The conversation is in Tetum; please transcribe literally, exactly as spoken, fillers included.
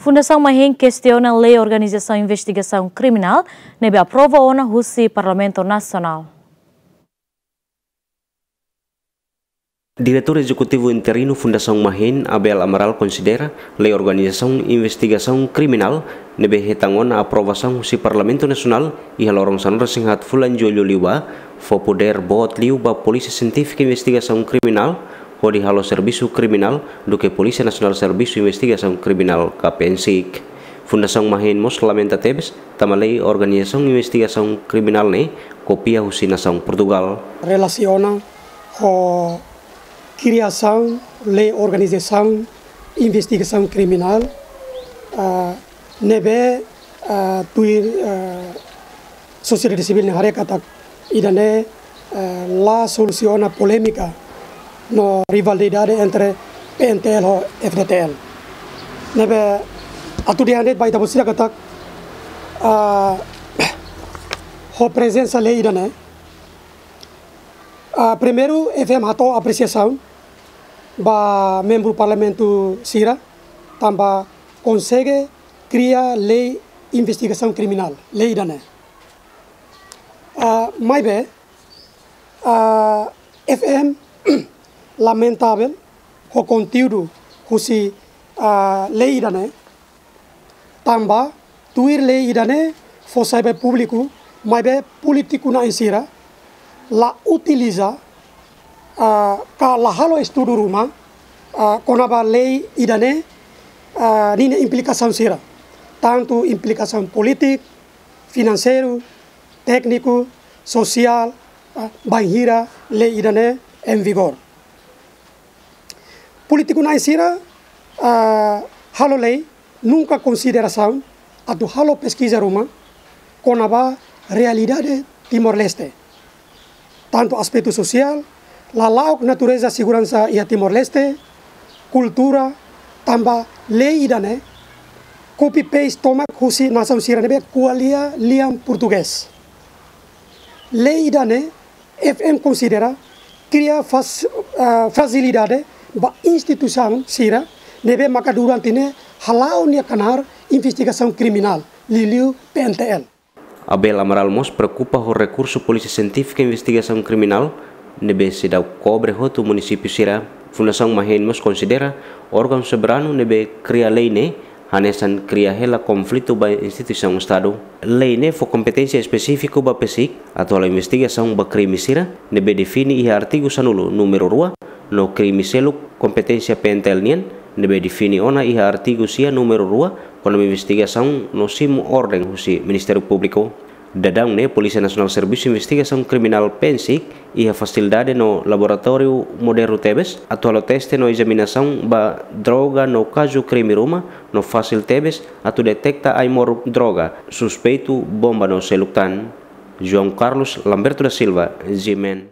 Fundasaun Mahin kestiona lei organizasaun investigasaun kriminál ne'ebé aprova ona husi Parlamentu Nasionál. Diretór Ezekutivu Interinu Fundasaun Mahin, Abel Amaral, konsidera lei organizasaun investigasaun kriminál ne'ebé hetan ona aprovasaun husi Parlamentu Nasionál iha loron sanulu-resin-haat fulan Jullu liubá fó podér boot liu ba Polísia Sientífika Investigasaun Kriminál hodi halo servisu kriminál duké Polísia Nasionál Servisu Investigasaun Kriminál ka PNSIK. Fundasaun Mahin mós lamenta tebes tanba lei organizasaun investigasaun kriminál ne'e kopia husi nasaun Portugál. Relasiona ho kriasaun lei organizasaun investigasaun kriminál, ah, ne'ebé, ah, tuir, ah, sosiedade sivíl nia haree katak ida-ne'e, ah, la solusiona polémika no rivalidade entre PNTL ho FDTL. Ne'ebé atu dehan de'it ba ita-boot sira katak, ah, ho prezensa lei ida-ne'e, ah, primeiru, FM hato'o apresiasaun ba membru Parlamentu sira tanba konsege kria lei investigasaun kriminál, lei ida-ne'e. Ah, maibé, ah, FM lamentavel ho konteúdu husi, ah, lei ida-ne'e, tanba tuir lei ida-ne'e fó sai ba públiku, maibé polítiku na'in sira la utiliza, ah, ka la halo estudu ruma, ah, kona-ba lei ida-ne'e, ah, ninia implikasaun sira, tantu implikasaun polítika, finanseiru, tékniku, sosiál, ah, bainhira lei ida-ne'e em vigor. Polítiku na'in sira, ah, halo lei, nunka konsiderasaun atu halo peskiza ruma kona-ba realidade Timor-Leste, tantu aspetu sosiál, lala'ok natureza seguransa iha Timor-Leste, kultura, tanba lei ida-ne'e copy-paste tomak husi nasaun sira ne'ebé ko'alia lian portugés. Lei ida-ne'e FM konsidera kria fas-, ah, frajilidade ba instituisaun sira ne'ebé maka durante ne'e hala'o nia knaar investigasaun kriminál, liuliu PNTL. Abel Amaral mós preokupa ho rekursu Polísia Sientífika Investigasaun Kriminál ne'ebé seidauk kobre hotu munisípiu sira. Fundasaun Mahin mós konsidera órgaun soberanu ne'ebé kria lei ne'e hanesan kria hela konflitu ba instituisaun Estadu. Lei ne'e fó kompeténsia espesífiku ba PSIK atu halo investigasaun ba krime sira ne'ebé define iha artigu sanulu númeru rua, no krime seluk kompeténsia PNTL nian ne'ebé define ona iha artigu sia númeru rua, kona-ba investigasaun no simu orden husi Ministériu Públiku. Daudaun ne'e Polísia Nasionál Servisu Investigasaun Kriminál, PNSIK, iha fasilidade no laboratóriu modernu tebes atu halo teste no ezaminasaun ba droga no kazu krime ruma, no fasil tebes atu deteta ai-moruk droga, suspeitu, bomba no seluk tan. João Carlos Lamberto da Silva, G M N.